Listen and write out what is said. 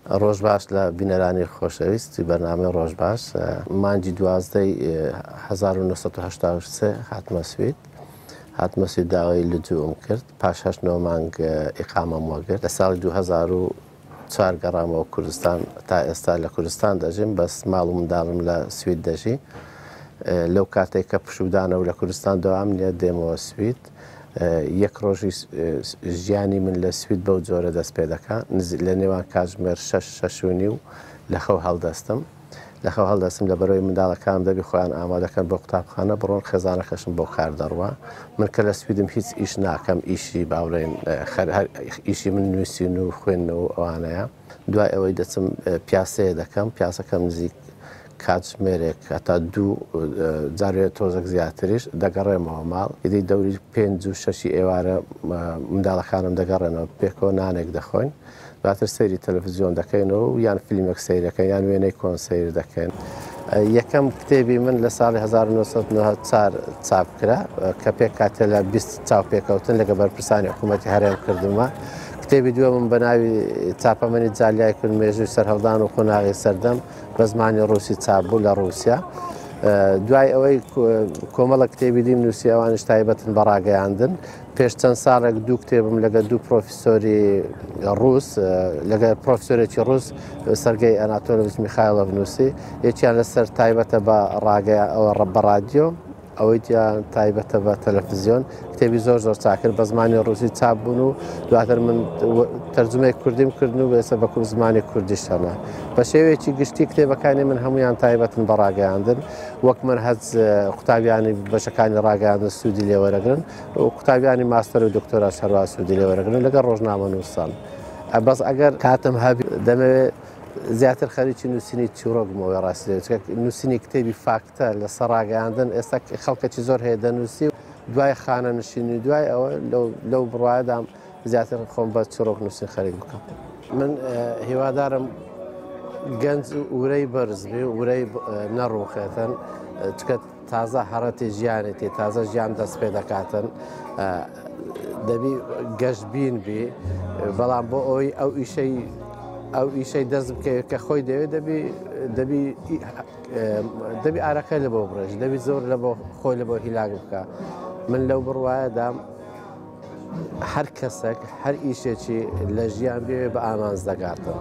ڕۆژ باش لە بینەرانی خۆشەویستی بەرنامەی ڕۆژ باش. مانگی دوازدەی 1983 هاتمە سوید. هاتمە سوید داوای لجووم کرد. پاش هەشت نۆ مانگ ئیقامەم وەگرت. لە ساڵی 2004 گەڕامەوە کوردستان. تا ئێستا لە کوردستان دەژیم، بەس ماڵ و منداڵم لە سوید دەژی. لەو کاتێک کە پشوودانە و لە کوردستان دەوام نییە دێمەوە سوید. یەک ڕۆژی ژیانی من لە سوید بەو جۆرە دەست پێ دەکا. لە نێوان کاتژمێر 6، 6:30 لە خەو هەڵدەستم. لە خەو هەڵدەستم لە بەرەوەی منداڵەکانم دەبی خۆیان ئامادەکەن بۆ قوتابخانە بڕۆن، خێزانەکەشم بۆ کار دەڕوا. من کە لە سویدم هیچ ئیش ناکەم، ئیشی باوڵێن هەر ئیشی من نووسین و خوێندنەوە و ئەوانەیە. دوای ئەوەی دەچم پیاسەیە دەکەم، پیاسەکەم نزیک کاتژمێرێک هەتا دوو جارێ تۆزێک زیاتریش دەگەڕێمەوە ماڵ. ئیدی دەوری 5 و 6ی ئێوارە منداڵەکانم دەگەڕێنەوە، پێکەوە نانێک دەخۆین. دواتر سەیری تەلەڤیزیۆن دەکەینەوە و یان فیلمێک سەیر دەکەین یان وێنەی کۆن سەیر دەکەین. یەکەم کتێبی من لە ساڵی 1994 چاپ کرا کە پێکهاتە لە 20 چاوپێکەوتن لەگە بەرپرسانی حکوومەتی هەرێم کردومە. کتێبی دووەمم بە ناوی چاپەمەنی جالیای کورد مێژووی سەرهەڵدان و قۆناغی سەردەم بە زمانی ڕووسی چاپ بوو لە ڕووسیا. دوای ئەوەی کۆمەڵە کتێبی دیم نووسی، ئەوانیش تایبەتن بە ڕاگەیاندن. پێش چەند ساڵێک دوو کتێبم لەگە دوو پرۆفیسۆری ڕووس، لەگە پرۆفیسۆرێکی ڕووس سەرگەی ئەناتۆلۆڤیچ میخایلۆڤ نووسی. یەکیان لەسەر تایبەتە بە ڕاگەیان بە ڕادیۆ، ئەوەی دیان تایبەتە بە تەلەفزیۆن. کتێبی زۆر زۆر چاکرد بە زمانی ڕووسی چاپ بوون و دواتر من تەرجمەی کوردیم کردن و ئێستا بە زمانی کوردیش هەمە. بە شێوەیەکی گشتی کتێبەکانی من هەمویان تایبەتن بە ڕاگەیاندن. وەک من هەز قوتابیانی بەشەکانی ڕاگەیاندن سوودی لێوەرەگرن و قوتابیانی ماستەر و دکتۆراش هەروە سوودی لێوەرەگرن لەگەڵ ڕۆژنامەنووسان. بەس ئەگەر کاتم هەبی دەمەوێت زیاتر خەریکی نووسینی چیرۆک بمەوە ڕاستی دەوێت. چونکە نووسینی کتێبی فاکتە لەسەر ڕاگەیاندن ئێستا خەڵکێکی زۆر هەیە دەنووسی و دوای خانەنشینی دوای ئەوە لەو بڕوایەدام زیاتر خۆم بە چیرۆک نووسین خەریک بکەم. من هیوادارم گەنج ورەی بەرز بێ و ورەی نەڕووخێتن، چونکە تازە هەڕەتی ژیانێتی، تازە ژیان دەست پێ دەکاتن، دەبی گەشتبین بی. بەڵام بۆ ئەوەی ئەو ئیشەی دەست بکەوێت کە خۆی دەوێت، دەبی ئارەقەی لە بۆ بڕێژ، دەبی زۆر لە بۆ خۆی لە بۆ هیلاک بکە. من لەو بڕوایەدام هەر کەسێک هەر ئیشێکی لە ژیان بێ بە ئامانج دەگاتن.